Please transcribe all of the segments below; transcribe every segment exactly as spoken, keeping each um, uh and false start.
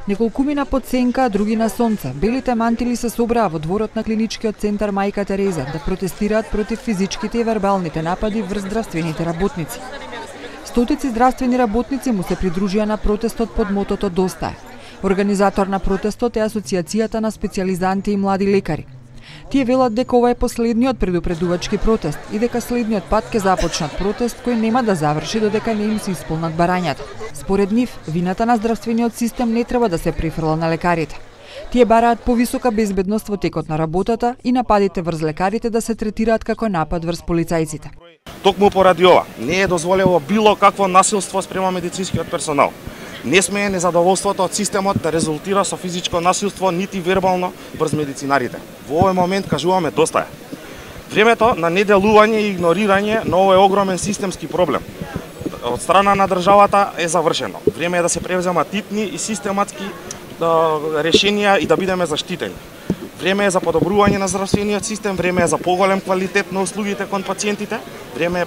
Неколкумина под сенка, други на сонце. Белите мантили се собраа во дворот на клиничкиот центар Мајка Тереза да протестираат против физичките и вербалните напади врз здравствените работници. Стотици здравствени работници му се придружија на протестот под мотото Доста е. Организатор на протестот е Асоциацијата на специјализанти и млади лекари. Тие велат дека ова е последниот предупредувачки протест и дека следниот пат ќе започнат протест кој нема да заврши додека не им се исполнат барањата. Според нив, вината на здравствениот систем не треба да се префрла на лекарите. Тие бараат повисока безбедност во текот на работата и нападите врз лекарите да се третираат како напад врз полицајците. Токму поради ова, не е дозволено било какво насилство спрема медицинскиот персонал. Не смее незадоволството од системот да резултира со физичко насилство нити вербално врз медицинарите. Во овој момент кажуваме доста е. Времето на неделување и игнорирање на овој огромен системски проблем од страна на државата е завршено. Време е да се превземат типни и систематски да, решенија и да бидеме заштитени. Време е за подобрување на здравствениот систем, време е за поголем квалитет на услугите кон пациентите, време е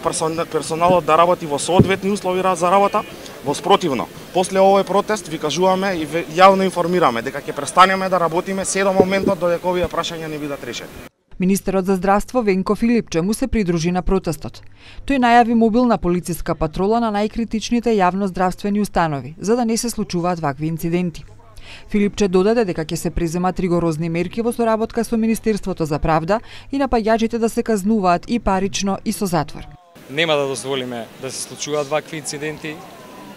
персоналот да работи во соодветни услови за работа. Воспротивно, после овој протест ви кажуваме и јавно информираме дека ќе престанеме да работиме се до моментот додека овие прашања не бидат решени. Министерот за здравство Венко Филипче му се придружи на протестот. Тој најави мобилна полициска патрола на најкритичните јавно-здравствени установи, за да не се случуваат вакви инциденти. Филипче додаде дека ќе се преземат ригорозни мерки во соработка со Министерството за правда и напаѓачите да се казнуваат и парично и со затвор. Нема да дозволиме да се случуваат вакви инциденти.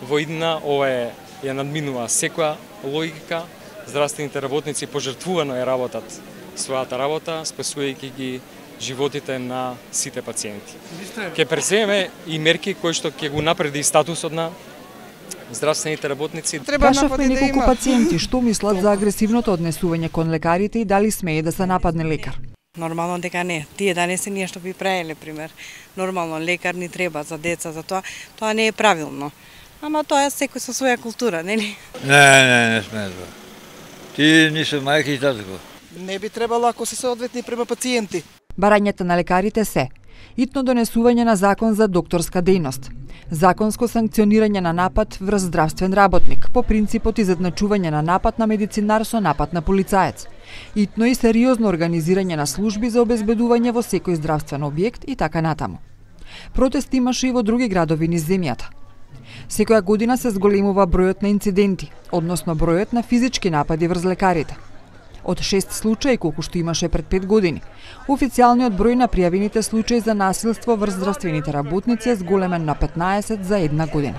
Во иднина ова е ја надминува секоја логика. Здравствените работници пожртвувано ја работат својата работа, спасувајќи ги животите на сите пациенти. Ќе преземе и мерки кои што ќе го напреди статусот на здравствените работници. Прашавме неколку пациенти што мислат за агресивното однесување кон лекарите и дали смее да се нападне лекар. Нормално дека не. Тие данес ние што би правеле, пример. Нормално лекар ни треба за деца, за тоа, тоа не е правилно. Ама тоа е секој со своја култура, нели? Не, не, не сме тоа. Ти не се мајки и татко. Не би требало ако се соодветни према пациенти. Барањата на лекарите се итно донесување на закон за докторска дејност, законско санкционирање на напад врз здравствен работник по принципот изедначување на напад на медицинар со напад на полицаец, итно и сериозно организирање на служби за обезбедување во секој здравствен објект и така натаму. Протест имаше и во други градови низ земјата. Секоја година се зголемува бројот на инциденти, односно бројот на физички напади врз лекарите. Од шест случаи колку што имаше пред пет години, официјалниот број на пријавените случаи за насилство врз здравствените работници е зголемен на петнаесет за една година.